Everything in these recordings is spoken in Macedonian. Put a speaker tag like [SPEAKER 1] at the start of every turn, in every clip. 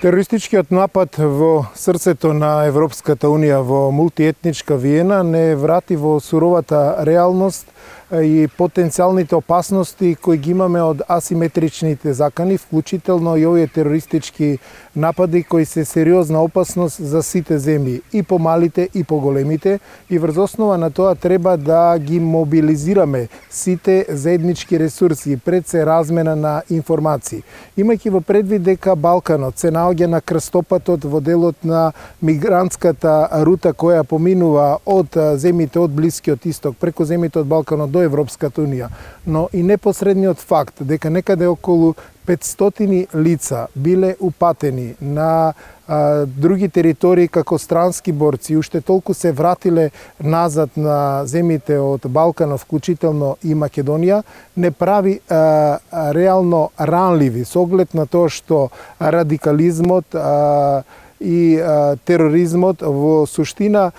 [SPEAKER 1] Терористичкиот напад во срцето на Европската Унија во мултиетничка Виена не врати во суровата реалност и потенцијалните опасности кои ги имаме од асиметричните закани, вклучително и овие терористички напади кои се сериозна опасност за сите земји, и помалите и поголемите, и врз основа на тоа треба да ги мобилизираме сите заеднички ресурси пред се размена на информации. Имајќи во предвид дека Балканот се наоѓа на крстопатот во делот на мигрантската рута која поминува од земјите од Блискиот Исток преку земјите од Балканот до Европската Унија, но и непосредниот факт дека некаде околу 500 лица биле упатени на други територии како странски борци, уште толку се вратиле назад на земјите од Балканот, вклучително и Македонија, не прави реално ранливи со оглед на тоа што радикализмот и тероризмот во суштина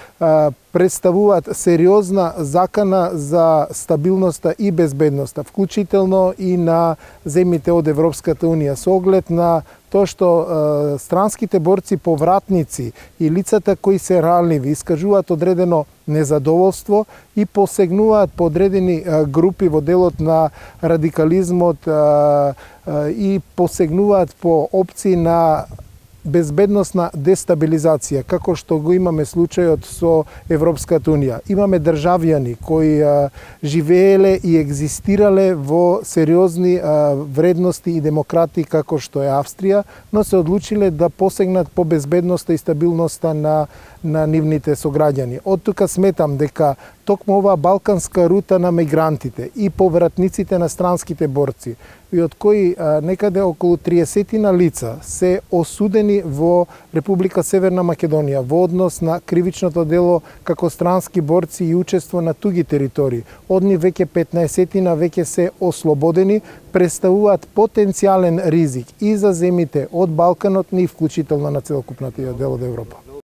[SPEAKER 1] представуваат сериозна закана за стабилноста и безбедноста, вклучително и на земјите од Европската Унија, со оглед на тоа што странските борци повратници и лицата кои се ранливи искажуваат одредено незадоволство и посегнуваат по одредени групи во делот на радикализмот и посегнуваат по опции на безбедносна дестабилизација, како што го имаме случајот со Европската Унија. Имаме државјани кои живееле и екзистирале во сериозни вредности и демократи како што е Австрија, но се одлучиле да посегнат по безбедноста и стабилноста на нивните сограѓани. Од тука сметам дека токму оваа балканска рута на мигрантите и повратниците на странските борци, и од кои некаде околу 30 лица се осудени во Република Северна Македонија во однос на кривичното дело како странски борци и учество на туги територии. Од нив веќе 15 веќе се ослободени, представуваат потенцијален ризик и за земјите од Балканот, ни вклучително на целокупната дел од Европа.